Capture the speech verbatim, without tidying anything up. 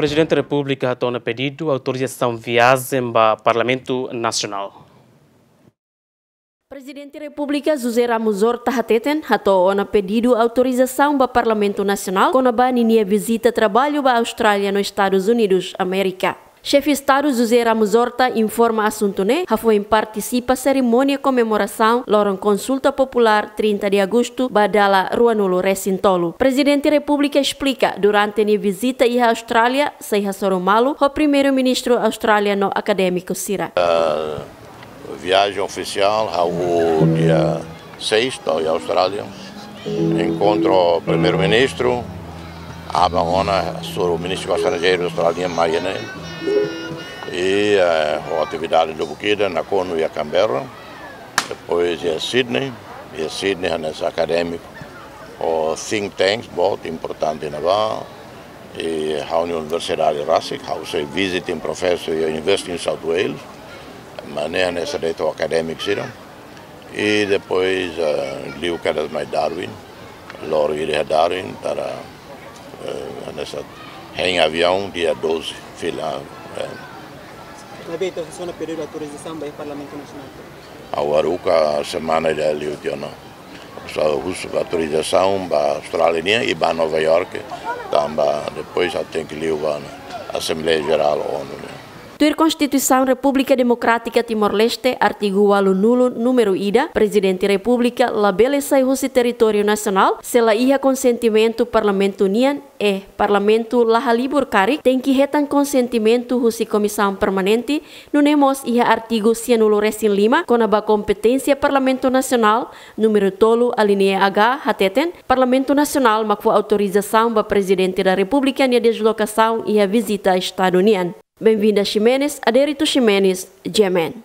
Prezidente Repúblika hato'o ona pedidu autorizasaun viajen ba Parlamentu Nasionál. Prezidente Repúblika José Ramos Horta hateten hato'o ona pedidu autorizasaun ba Parlamentu Nasionál kona-ba ninia vizita traballu ba Austrália no Estadus Unidus Amérika. Xefe Estadu José Ramos Horta informa asuntu ne'e hafoin partisipa serimónia komemorasaun loron konsulta populár trinta de agostu ba dala ruanulu resin tolu. Prezidente Repúblika esplika durante nia vizita iha Austrália sei hasoru malu ho Primeiru-Ministru Austrália no akadémiku sira. Viajen ofisiál, ha'u dia seis to'o iha Austrália. Enkontru Primeiru-Ministru, aban ona hasoru Ministru Estranjeiru Austrália mai ne'e. I, eh, ho atividade lubuk ida nakonu iha Canberra. Depois iha Sydney, iha Sydney hanesan akadémiku ho think tanks, boot importante ne'ebá. I ha'u nia universidade rasik, ha'u sei visiting professor iha University in South Wales. Mas ne'e hanesan de'it ho akadémiku sira. I depois, eh, liu kedas mai Darwin, loron ida iha Darwin, para, eh, hanesan hein aviaun dia doze, fila, eh. Maibé ita husu ona pedidu autorizasaun ba Parlamentu Nasionál. Ha'u haruka semana ida liu tiha ona. Ha'u husu autorizasaun ba Austrália nian i ba Nova York, tanba depois ha'u tenke liu ba Asembleia Jerál ONU nian. Tuir Konstituisaun Repúblika Demokrátika Timor-Leste, artigu ualunulu, númeru ida, Prezidente Repúblika labele sai husi territóriu nasionál se la iha konsentimentu Parlamentu nian. Eh, Parlamentu la halibur karik, tenke hetan konsentimentu husi Komisaun Permanente, nune'e mós iha artigu sianulu resin lima kona-ba kompeténsia Parlamentu Nasionál, númeru tolu, alínea H, hateten, Parlamentu Nasionál mak fó autorizasaun ba Prezidente da Repúblika nia deslokasaun iha vizita Estadu nian. Benvinda Ximenes, Adérito Ximenes, G M N.